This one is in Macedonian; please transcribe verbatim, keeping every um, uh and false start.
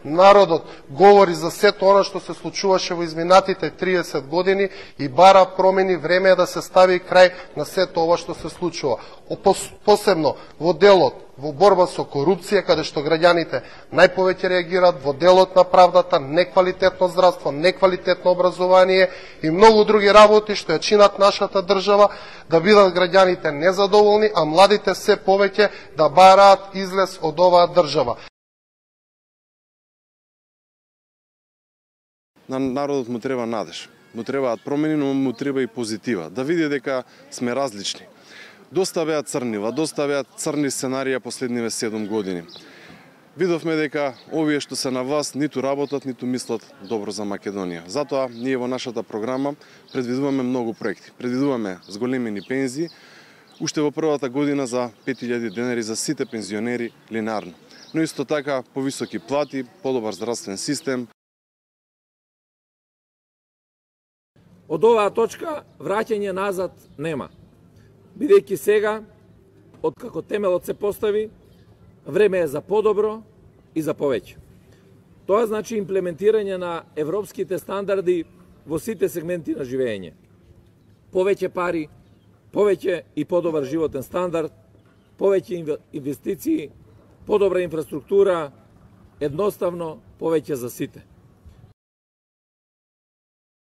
Народот говори за сето она што се случуваше во изминатите триесет години и бара промени. Време е да се стави крај на сето ова што се случува. Посебно во делот во борба со корупција, каде што граѓаните најповеќе реагираат, во делот на правдата, неквалитетно здравство, неквалитетно образование и многу други работи што ја чинат нашата држава, да бидат граѓаните незадоволни, а младите се повеќе да бараат излез од оваа држава. На народот му треба надеж, му требаат промени, но му треба и позитива, да види дека сме различни. Доста беа црнива, доста беа црни сценарија последниве седум години. Видовме дека овие што се на власт ниту работат, ниту мислат добро за Македонија. Затоа ние во нашата програма предвидуваме многу проекти. Предвидуваме зголемени пензии, уште во првата година за пет илјади денари за сите пензионери линарно. Но исто така повисоки плати, подобар здравствен систем. Од оваа точка враќање назад нема. Бидејќи сега, откако темелот се постави, време е за подобро и за повеќе. Тоа значи имплементирање на европските стандарди во сите сегменти на живење. Повеќе пари, повеќе и подобар животен стандард, повеќе инвестиции, подобра инфраструктура, едноставно повеќе за сите.